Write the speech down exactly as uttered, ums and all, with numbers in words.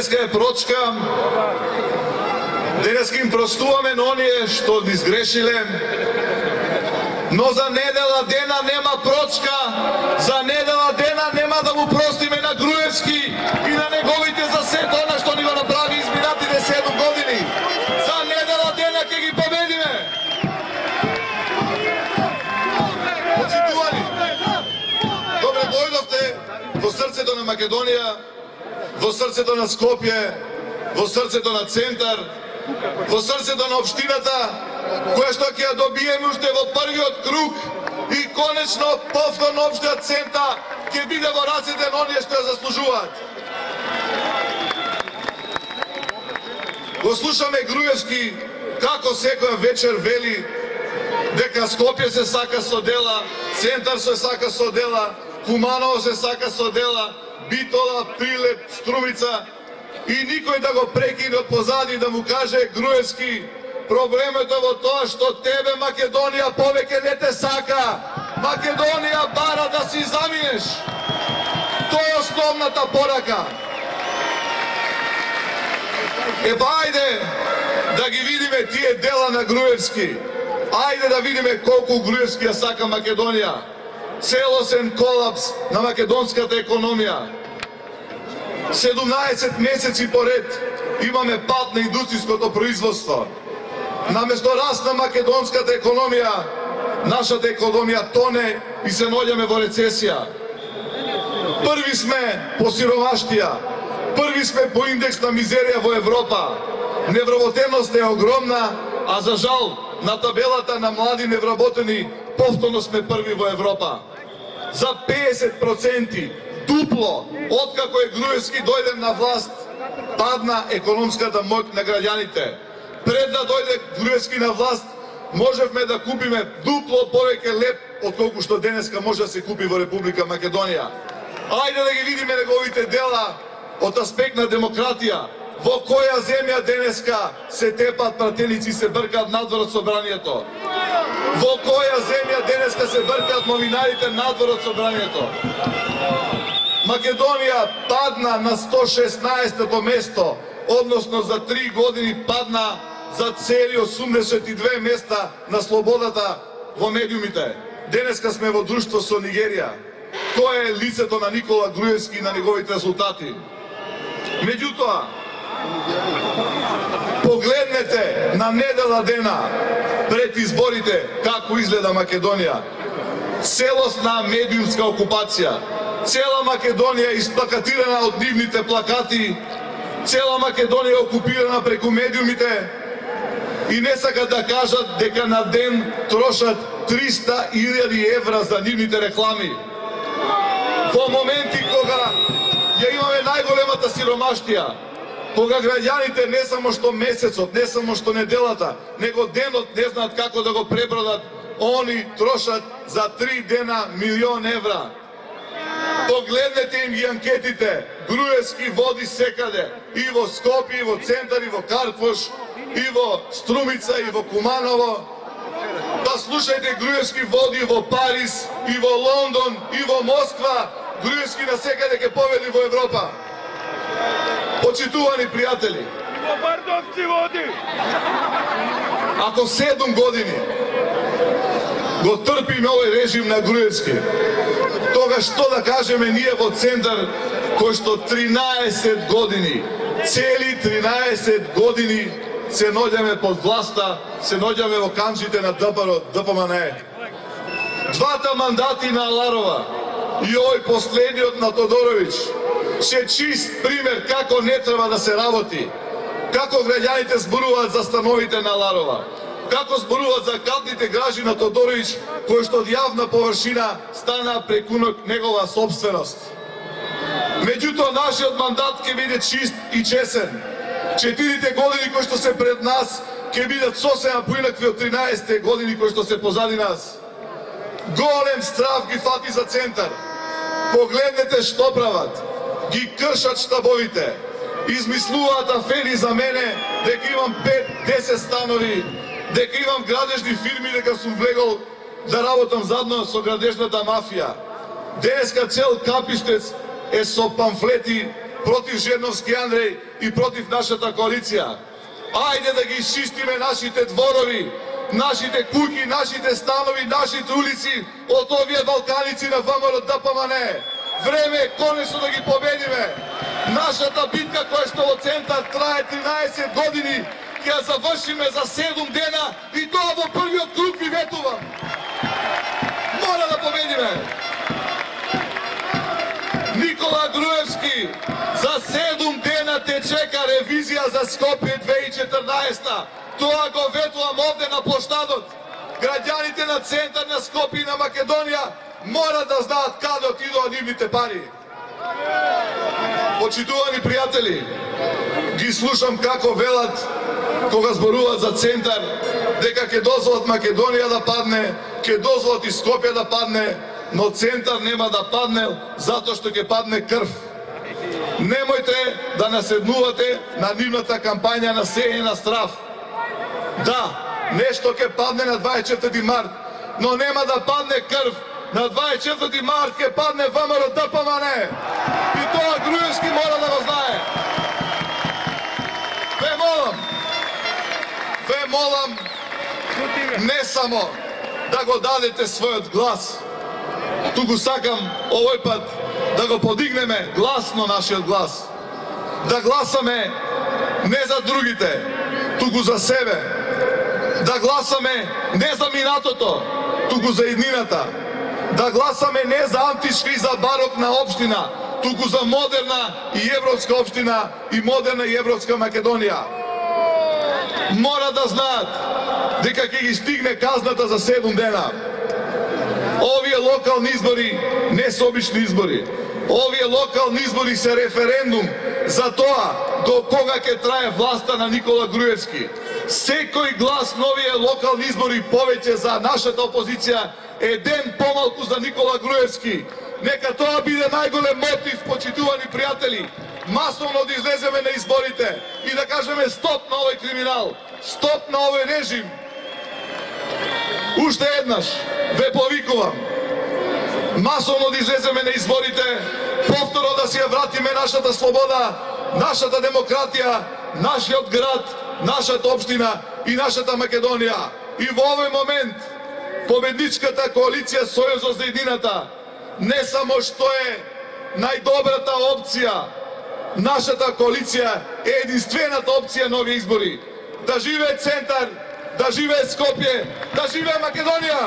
денеска е прочка, денеска им простуваме на оние што ни сгрешиле, но за недела дена нема прочка, за недела дена нема да му простиме на Груевски и на неговите за сето она што ни го направи изминатите седум години. За недела дена ќе ги победиме. Почитувани, добре дојдовте во срцето на Македонија, во срцето на Скопје, во срцето на Центар, во срцето на општината, која што ќе ја добиеме уште во првиот круг и конечно повторно општиот Центар ќе биде во рацете на оние што ја заслужуваат. Го слушаме Груевски како секоја вечер вели дека Скопје се сака со дела, Центар се сака со дела, Куманово се сака со дела, Битола, Прилеп, Струмица, и никој да го прекине од позади да му каже Груевски, проблемот е во тоа што тебе Македонија повеќе не те сака. Македонија бара да си заминеш. Тоа е основната порака. Ева, ајде да ги видиме тие дела на Груевски. Ајде да видиме колку Груевски ја сака Македонија. Целосен колапс на македонската економија. седумнаесет месеци поред имаме пад на индустријското производство. Наместо раст на македонската економија, нашата економија тоне и се наоѓаме во рецесија. Први сме по сиромаштија, први сме по индекс на мизерија во Европа. Невработеност е огромна, а за жал на табелата на млади невработени повторно сме први во Европа. За педесет проценти дупло откако е Груевски дојде на власт, падна економската моќ на граѓаните. Пред да дојде Груевски на власт, можевме да купиме дупло повеќе леп отколку што денеска може да се купи во Република Македонија. Ајде да ги видиме неговите дела од аспект на демократија. Во која земја денеска се тепат пратеници и се бркаат надвор од собранието? Во која земја денеска се бркаат новинарите надвор од собранието? Македонија падна на сто шеснаесето место, односно за три години падна за цели осумдесет и две места на слободата во медиумите. Денеска сме во друштво со Нигерија. Тоа е лицето на Никола Груевски и на неговите резултати. Меѓутоа, погледнете на недела дена пред изборите како изгледа Македонија. Целосна медиумска окупација. Цела Македонија е исплакатирана од нивните плакати, цела Македонија е окупирана преку медиумите и не сакат да кажат дека на ден трошат триста илјади евра за нивните реклами. Во моменти кога ја имаме најголемата сиромаштија, кога граѓаните не само што месецот, не само што неделата, него денот не знаат како да го пребродат, они трошат за три дена милион евра. Погледнете им ги анкетите. Груевски води секаде. И во Скопје, и во Центар, и во Карпош, и во Струмица, и во Куманово. Па слушајте, Груевски води во Париз, и во Лондон, и во Москва. Груевски на секаде ќе победи во Европа. Почитувани пријатели, ако седум години го трпиме овој режим на Груевски, тога што да кажеме ние во Центар, кој што тринаесет години, цели тринаесет години се наоѓаме под власта, се наоѓаме во камчите на Д П М Н Е. Двата мандати на Аларова и овој последниот на Тодороvić се чист пример како не треба да се работи, како граѓаните зборуваат за становите на Аларова, како зборуваат за калпните гражи на Тодороvić, кои што од јавна површина стана преку негова собственост. Меѓутоа, нашиот мандат ќе биде чист и чесен. Четирите години кои што се пред нас ќе бидат сосема поинакви од тринаесетте години кои што се позади нас. Голем страв ги фати за Центар. Погледнете што прават. Ги кршат штабовите. Измислуваат афери за мене дека имам пет-десет станови, дека имам градежни фирми, дека сум влегол да работам задно со градежната мафија. Денеска цел Капиштец е со памфлети против Жирновски Андреј и против нашата коалиција. Ајде да ги изчистиме нашите дворови, нашите куќи, нашите станови, нашите улици од овие валканици на ВМРО Д П М Н. Време е конечно да ги победиме. Нашата битка која што во центар трае тринаесет години, ќе ја завршиме за седум дена и тоа во првиот круг ви ветувам. Мора да победиме. Никола Груевски, за седум дена те чека ревизија за Скопје две илјади и четрнаесета. Тоа го ветувам овде на площадот. Граѓаните на центар на Скопје и на Македонија мора да знаат каде отидоа нивните пари. Почитувани пријатели, ги слушам како велат кога зборуваат за центар, дека ќе дозволат Македонија да падне, ќе дозволат и Скопје да падне, но центар нема да падне затоа што ќе падне крв. Немојте да наседнувате на нивната кампања на сеење на страв. Да, нешто ќе падне на дваесет и четврти март, но нема да падне крв. На дваесет и четврти март ќе падне ВМРО Д П М Н. И тоа Груевски мора да го знае. Ве молам, ве молам, не само да го дадете својот глас, туку сакам овој пат да го подигнеме гласно нашиот глас. Да гласаме не за другите, туку за себе. Да гласаме не за минатото, туку за иднината. Да гласаме не за антишка и за барокна општина, туку за модерна и европска општина и модерна и европска Македонија. Мора да знаат дека ќе ги стигне казната за седум дена. Овие локални избори не се обични избори. Овие локални избори се референдум за тоа до кога ќе трае власта на Никола Груевски. Секој глас на овие локални избори повеќе за нашата опозиција е ден помалку за Никола Груевски. Нека тоа биде најголем мотив, почитувани пријатели, масовно да излеземе на изборите и да кажеме стоп на овој криминал, стоп на овој режим. Уште еднаш ве повикувам, масовно да излеземе на изборите, повторно да си ја вратиме нашата слобода, нашата демократија, нашиот град, нашата општина и нашата Македонија. И во овој момент победничката коалиција Сојузот за иднината не само што е најдобрата опција, нашата коалиција е единствената опција на овие избори. Да живее центар, да живее Скопје, да живее Македонија!